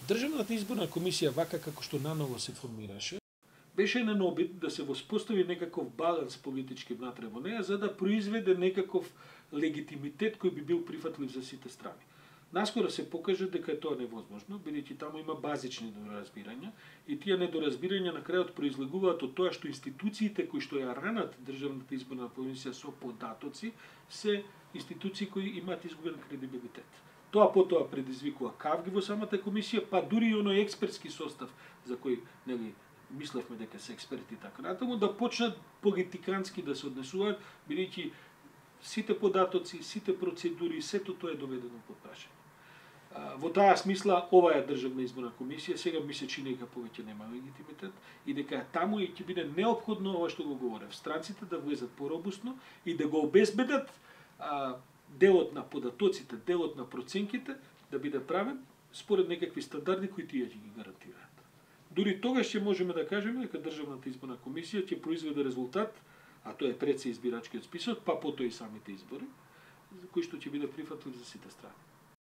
Државната изборна комисија, вака како што наново се формираше, беше еден обид да се воспостави некаков баланс политички внатре во неја, за да произведе некаков легитимитет кој би бил прифатлив за сите страни. Наскоро се покажа дека е тоа невозможно, бидејќи таму има базични недоразбирања и тие недоразбирања на крајот произлегуваат од тоа што институциите кои што ја ранат Државната изборна комисија со податоци се институции кои имаат изгубен кредибилитет. Тоа потоа предизвикува кавги во самата комисија, па дури и оној експертски состав за кој мислевме дека се експерти така натаму, да почнат политикански да се однесуваат, бидејќи сите податоци, сите процедури, сето тоа е доведено под прашање. Во таа смисла, оваа Државна изборна комисија сега ми се чини дека повеќе нема легитимитет и дека таму и ќе биде неопходно ова што го говорев, странците да влезат поробусно и да го обезбедат делот на податоците, делот на проценките да биде правен според некакви стандарди кои тие ќе ги гарантираат. Дури тогаш ќе можеме да кажеме дека Државната изборна комисија ќе произведе резултат, а тоа е пред се избирачкиот список, па потоа и самите избори, кој што ќе биде прифатлив за сите страни.